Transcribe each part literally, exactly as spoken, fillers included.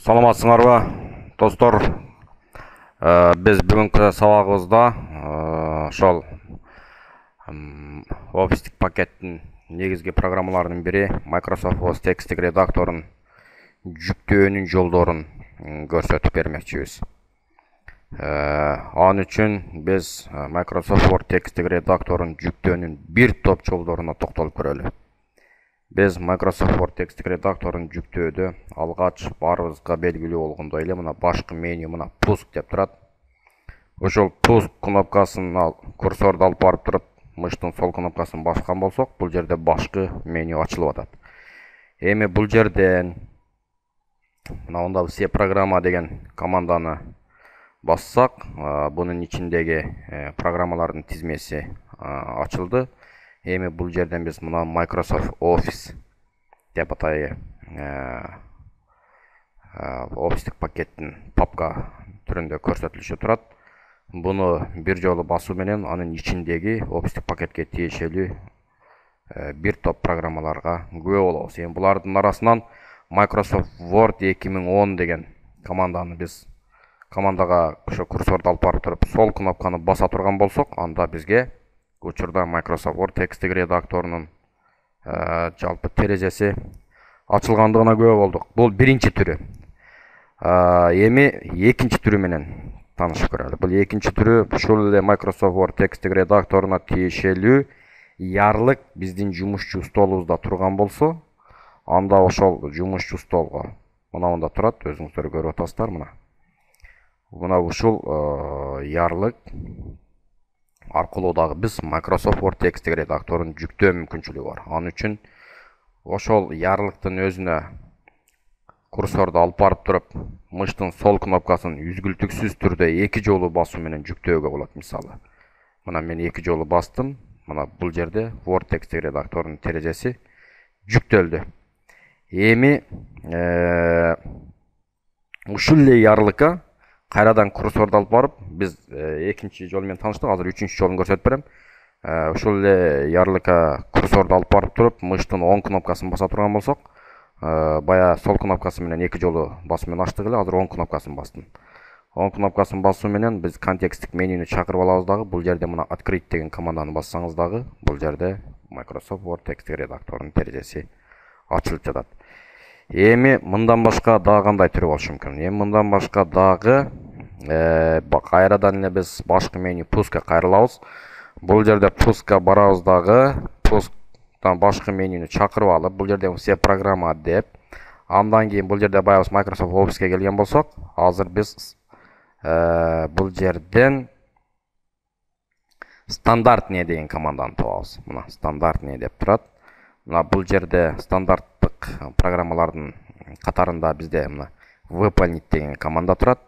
Саламатсыңарбы, достор. Биз бүгүнкү сабагыбызда ошол офистик пакеттин негизги программаларынын бири Microsoft Office текстик редакторун жүктөөнүн жолдорун көрсөтүп бермекчибиз. Ал үчүн биз Microsoft Word текстик редакторун жүктөөнүн бир топ жолдоруна токтолуп көрөлү. Biz Microsoft Word текстик редакторун жүктөөдө алгач баарыбызга белгилүү болгондой эле мына башкы меню мына пуск деп турат. Ошол пуск кнопкасын ал курсорду алып барып туруп, мыштын сол кнопкасын баскан болсок, бул жерде башкы меню ачылып атат. Эми бул жерден мына онда все программа деген команданы бассак, бунун ичиндеги программалардын тизмеси ачылды. Эми бул жерден биз мына Microsoft Office деп атайы офистик пакеттин папка түрүндө көрсөтүлүшү турат. Буну бир жолу басуу менен анын ичиндеги офистик пакетке тиешелүү бир топ программаларга күбө болобуз. Эми булардын арасынан Microsoft Word эки миң он деген команданы биз командага ошо курсорду алып барып туруп сол кнопканы баса турган болсок, анда бизге учурда Microsoft Word текстик редакторунун жалпы терезеси ачылгандыгына күбө болдук. Бул биринчи түрү. Эми экинчи түрү менен таанышып көрөлү. Бул экинчи түрү ушул эле Microsoft Word текстик редакторуна тиешелүү ярлык биздин жумушчу столубузда турган болсо, анда ошол жумушчу столго мына монда турат, өзүңүздөр көрүп атасыздар мына. Мына ушул ярлык аркылуу дагы биз Microsoft Word текстик редакторун жүктөө мүмкүнчүлүгү бар. Ал үчүн ошол ярлыктын өзүнө курсорду алып барып туруп, мыштын сол кнопкасын үзгүлтүксүз түрдө эки жолу басуу менен жүктөөгө болот. Мисалы, мына мен эки жолу бастым. Мына бул жерде Word текстик редакторунун терезеси жүктөлдү. Эми ушул эле ярлыкка кайрадан курсорду алып барып, биз экинчи жол менен тааныштык, азыр үчүнчү жолун көрсөтүп берем. Ушул эле ярлыкка курсорду алып барып туруп, мыштын оң кнопкасын баса турган болсок, бая сол кнопкасы менен эки жолу басуу менен ачтык эле, азыр оң кнопкасын бастым. Оң кнопкасын басуу менен биз контекстик менюну чакырып алабыз дагы. Бул жерде мына открыть деген команданы бассаңыз дагы, бул жерде Microsoft Word текстик редакторунун терезеси ачылып жатат. Эми мындан башка дагы кандай түрү болушу мүмкүн? Эми мындан башка дагы кайрадан эле биз башкы меню пускка кайрылабыз. Бул жерде пускка барабыз дагы, пусктан башкы менюну чакырып алып, бул жерде все программа деп, андан кийин бул жерде баягы Microsoft Office'ке келген болсок, азыр биз бул жерден стандартный деген команданы табабыз. Мына стандартный деп турат. Мына бул жерде стандарттык программалардын катарында бизде мына выполнить деген команда турат.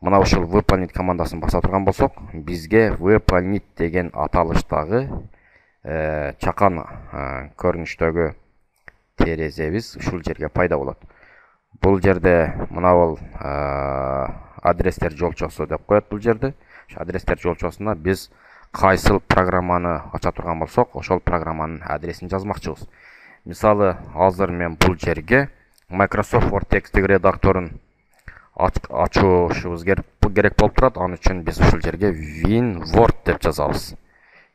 Мына ушул выполнить командасын баса турган болсок, бизге выполнить деген аталыштагы чакан көрүнүштөгү терезебиз ушул жерге пайда болот. Бул жерде мына бул адрестер жолчосу деп коет бул жерде. Ошо адрестер жолчосуна биз кайсыл программаны ача турган болсок, ошол программанын адресин жазмакчыбыз. Мисалы, азыр мен бул жерге Microsoft Word текстик редакторун ачуушубуз керек болуп турат. Ал үчүн биз ушул жерге WinWord деп жазабыз.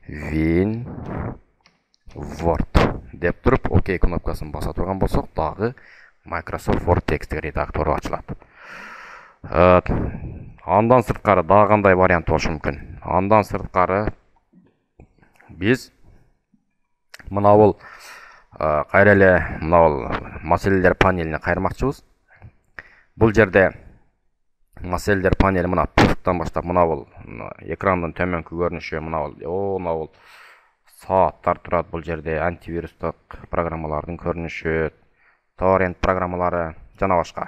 WinWord деп туруп, ОК кнопкасын баса турган болсок, дагы Microsoft Word текстик редактору ачылат. Андан сырткары дагы кандай вариант болушу мүмкүн? Андан сырткары биз мына бул кайра эле мына бул маселелер панелине кайрмакчыбыз. Бул жерде маселелер панели мына пусктан баштап мына бул экрандын төмөнкү көрүнүшү мына бул мына бул сааттар турат. Бул жерде антивирустук программалардын көрүнүшү, торрент программалары жана башка.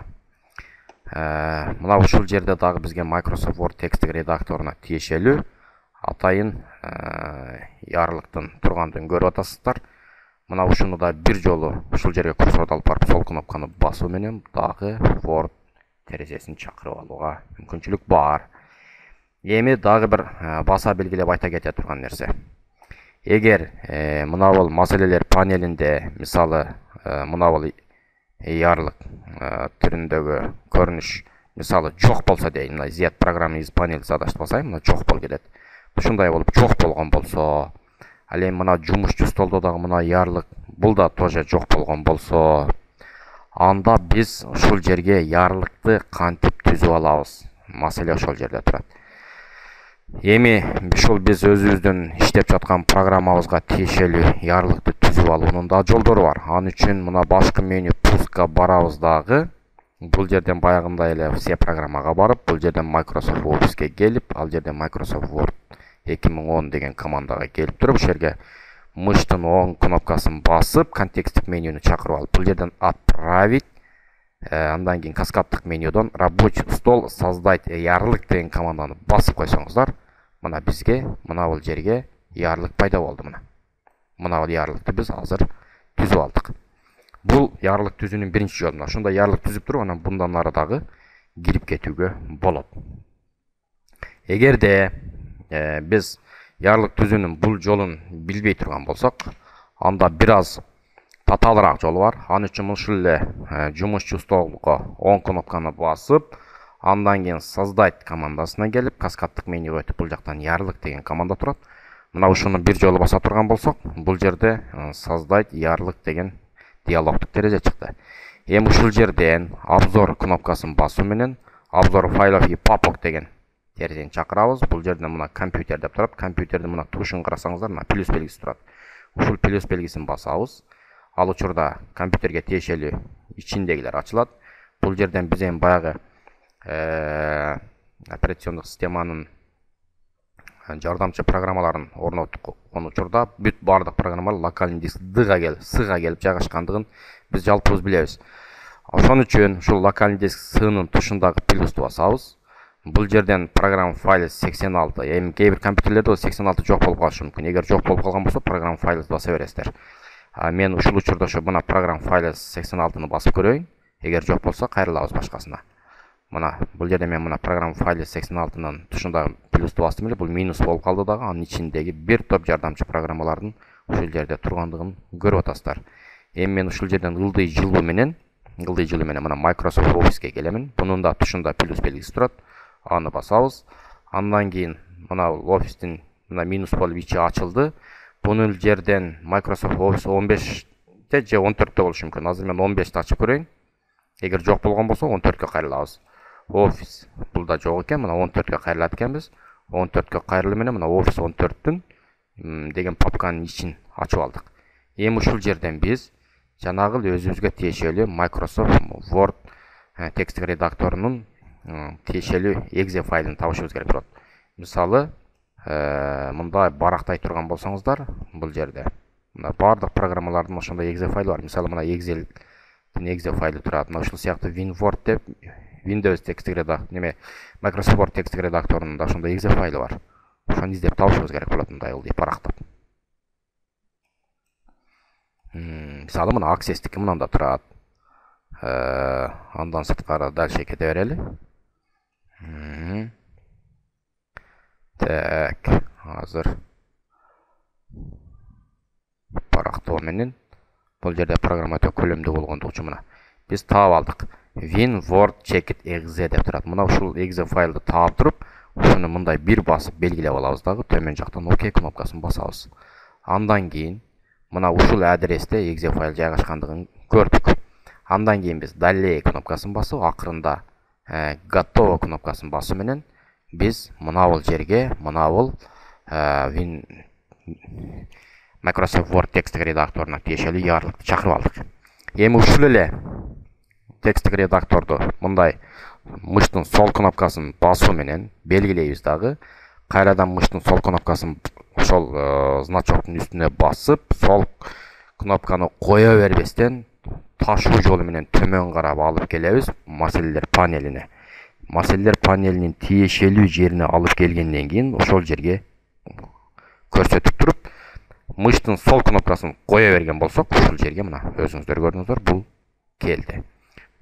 Мына ушул жерде дагы бизге Microsoft Word текстик редакторуна тиешелүү атайын ярлыктын тургандыгын көрүп атасыздар. Мына ушуну да бир жолу ушул жерге курсорду алып барып сол кнопканы басуу менен дагы Word терезесин чакырып алууга мүмкүнчүлүк бар. Эми дагы бир баса белгилеп айта кете турган нерсе. Эгер мына бул маселелер панелинде, мисалы, мына бул ярлык түрүндөгү көрүнүш мисалы жок болсо дейин, мына изят программа из панели задач басайын, мына жок болуп кетет. Ушундай болуп жок болгон болсо, ал эми мына жумушчу столдо дагы мына ярлык бул да тоже жок болгон болсо, анда биз ушул жерге ярлыкты кантип түзүп алабыз? Маселе ошол жерде турат. Эми ушул биз өзүбүздүн иштеп жаткан программабызга тиешелүү ярлыкты түзүп алуунун да жолдору бар. Ал үчүн мына башкы меню пускка барабыз дагы. Бул жерден баягындай эле все программага барып, бул жерден Microsoft Office'ке келип, ал жерден Microsoft Word эки миң он деген командага келип туруп, ушул жерге мыштын оң кнопкасын басып, контексттик менюну чакырып алып, бул жерден отправить, андан кийин каскаддык менюдон рабочий стол создать ярлык деген команданы басып койсоңуздар, мына бизге мына бул жерге ярлык пайда болду. Мына мына бул ярлыкты биз азыр түзүп алдык. Бул ярлык түзүүнүн биринчи жолу. Ошондой ярлык түзүп туруп, анан bundan ары дагы кирип кетүүгө болот. Эгерде биз ярлык түзүүнүн бул жолун билбей турган болсок, анда бир аз татаалыраак жолу бар. Ал үчүн ушул эле жумушчу столго оң кнопканы басып, андан кийин создать командасына келип, каскаддык менюга өтүп, бул жактан ярлык деген команда турат. Мына ушуну бир жолу баса турган болсок, бул жерде создать ярлык деген диалогдук терезе чыкты. Эми ушул жерден обзор кнопкасын басуу менен обзор файлов и папок деген терезени чакырабыз. Бул жерден мына компьютер деп турат. Компьютердин мына тушун карасаңыздар, мына плюс белгиси турат. Ушул плюс белгисин басабыз. Ал учурда компьютерге тиешелүү ичиндегилер ачылат. Бул жерден биз эми баягы операциондук системанын жардамчы программаларын орноткон учурда бүт бардык программалар локальный диск Д'га келип, S'га келип жайгашкандыгын биз жалпыбыз билебиз. Ошон үчүн ушул локальный диск S'нын тушундагы плюсту басабыз. Бул жерден программа файлы сексен алты. Эми кээ бир компьютерлерде сексен алты жок болуп калышы мүмкүн. Эгер жок болуп калган болсо, программа файлы баса бересиздер. А мен ушул учурда ошо мына программа файлы сексен алтыны басып көрөйүн. Эгер жок болсо, кайрылабыз башкасына. Мына бул жерде мен мына программа файлы сексен алтынын тушундагы плюсту бастым эле, бул минус болуп калды дагы. Анын ичиндеги бир топ жардамчы программалардын ушул жерде тургандыгын көрүп атасыздар. Эми мен ушул жерден ылдый жылуу менен, ылдый жылуу менен мына Microsoft Office'ке келемин. Бунун да тушунда плюс белгиси турат. Аны басабыз. Андан кийин мына Office'тин мына минус болуп ичи ачылды. Бунун жерден Microsoft Office он беште же он төрттө болушу мүмкүн. Азыр мен он бешти ачып көрөйүн. Эгер жок болгон болсо, он төрткө кайрылабыз. Office бул да жок экен, мына он төрткө кайрылат экенбиз. он төрткө кайрылуу менен мына Office он төрттүн деген папканын ичин ачып алдык. Эми ушул жерден биз жанагы өзүбүзгө тиешелүү Microsoft Word текстик редакторунун тиешелүү exe файлын табышыбыз керек болот. Мисалы, мындай барактай турган болсоңуздар, бул жерде мына бардык программалардын ошондой exe файлы бар. Мисалы, мына Excel exe файлы турат. Мына ушул сыяктуу WinWord деп Windows текстик редактор, неме Microsoft Word текстик редакторунун да ошондой exe файлы бар. Ошону издеп табышыбыз керек болот, мындай ылдый барактап. Мисалы, мына Access-тики мынанда турат. Андан сырткары дальше кете берели. Так, азыр барактоо менен бул жерде программа өтө көлөмдүү болгондугу үчүн мына биз таап алдык. WinWord checked exe деп турат. Мына ушул exe файлды таап туруп, ушуну мындай бир басып белгилеп алабыз дагы, төмөн жактан ОК кнопкасын басабыз. Андан кийин мына ушул адресте exe файл жайгашкандыгын көрдүк. Андан кийин биз далее кнопкасын басып, акырында готово кнопкасын басуу менен биз мына бул жерге, мына бул Microsoft Word текстик редакторуна тиешелүү ярлыкты чакырып алдык. Эми ушул эле текстик редакторду мындай мыштын сол кнопкасын басуу менен белгилейбиз дагы. Кайрадан мыштын сол кнопкасын ошол значоктун үстүнө басып, сол кнопканы кое бербестен ташуу жолу менен төмөн карап алып келебиз маселелер панелине. Маселелер панелинин тиешелүү жерине алып келгенден кийин ошол жерге көрсөтүп туруп, мыштын сол кнопкасын кое берген болсок, ушул жерге мына өзүңүздөр көрдүңүздөр, бул келди.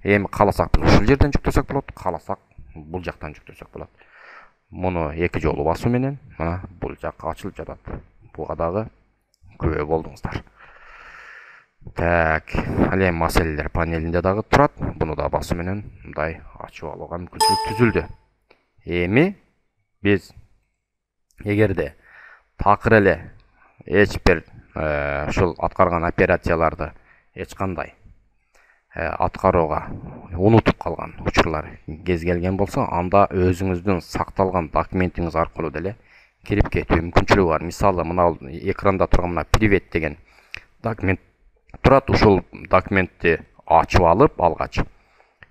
Эми кааласак биз ушул жерден жүктөсөк болот, кааласак бул жактан жүктөсөк болот. Муну эки жолу басуу менен мына бул жакка ачылып жатат. Буга дагы күбө болдуңуздар. Так, ал эми маселелер панелинде дагы турат. Буну да басуу менен мындай ачып алууга мүмкүнчүлүк түзүлдү. Эми биз эгерде такыр эле эч бир ушул аткарган операцияларды эч кандай аткарууга унутуп калган учурлар кез келген болсо, анда өзүңүздүн сакталган документиңиз аркылуу деле кирип кетүү мүмкүнчүлүгү бар. Мисалы, мына экранда турган мына привет деген документ турат. Ушул документти ачып алып алгач,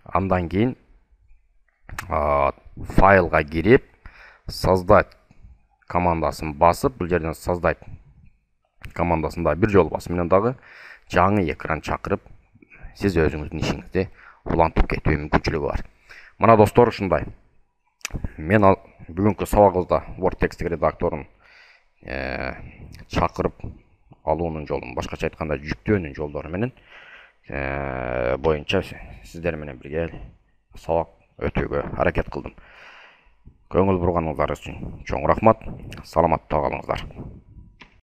андан кийин файлга кирип, создать командасын басып, бул жерден создать командасын да бир жолу басуу менен дагы жаңы экран чакырып, сиз өзүңүздүн ишиңизди улантып кетүү мүмкүнчүлүгү бар. Мына достор, ушундай. Мен ал бүгүнкү сабагыбызда Word текстик редакторун чакырып алуунун жолун, башкача айтканда жүктөөнүн жолдору менен боюнча сиздер менен бирге сабак өтүүгө аракет кылдым. Көңүл бурганыңыздар үчүн чоң рахмат. Саламатта калыңыздар.